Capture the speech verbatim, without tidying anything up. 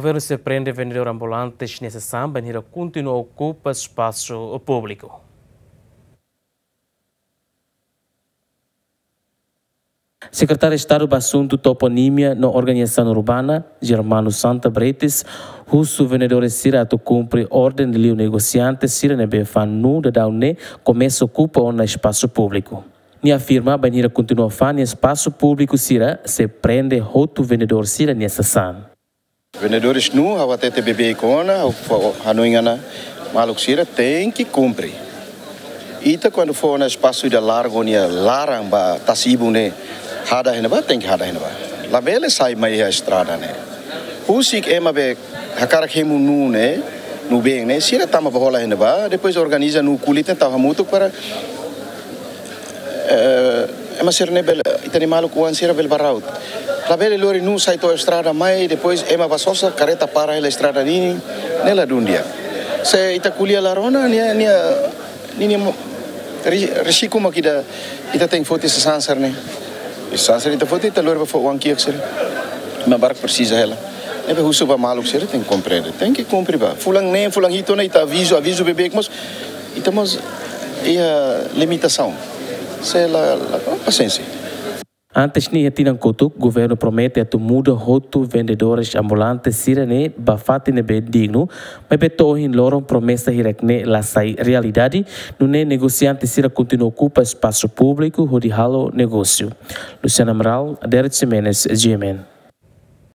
Governu sei prende vendedór ambulantes nia sasán bainhira kontinua okupa espasu públiku. Sekretáriu Estadu ba Asuntu Toponímia no Organizasaun Urbana, Germano Santa Bretes, husu vendedores sira atu kumpre orden liu negosiante sira ne'ebé fanu daudaun ne'e komesa okupa ona espasu públiku. Nia afirma bainhira kontinua fanu espasu públiku sira sei prende hotu vendedór sira nia sasán. Vendedores nuu, ha'u hatete beibeik ona, ha'u fó hanoin ona, maluk sira tenke kumpre. Ita kuandu fó ona espasu ida largu nia laran ba tasi-ibun ne'e hada iha ne'ebá, tenke hada iha ne'ebá. Labele sai mai iha estrada ne'e. Husik ema be hakarak hemu nuu ne'e, nuu-been ne'e, sira tama ba hola iha ne'ebá, depois organiza nuu kulit ne'e tau hamutuk para eh, ema sira ne'e bele, ita-nia maluk oan sira bele bá ra'ut. Labele lori nuu sai to'o estrada mai, depois ema bá sosa, kareta para hela estrada ninin, ne'e ladún di'ak. Se ita ko'alia la rona, nia, nia, ninia mo-, ri-, risku mak ida, ita tenke foti sasán sira-ne'e. Sasán sira ita foti, ita lori bá fó oan kiak sira. Ema barak presiza hela. Ne'ebé husu ba maluk sira tenke komprende. Tenke kumpre bá. Fulan neen, fulan hitu ona ita avizu, avizu beibeik mós, ita mós iha limitasaun. Se la, la, pasiénsia. Antes ne'e iha tinan kotuk, governu promete atu muda hotu vendedores ambulantes sira-ne'e ba fatin ne'ebé dignu, maibé to'o ohin loron promesa hirak-ne'e la sai realidade, nune'e negosiante sira kontinua okupa espasu públiku hodi halo negósiu. Luciana Amaral, Derek Ximenes, G M N.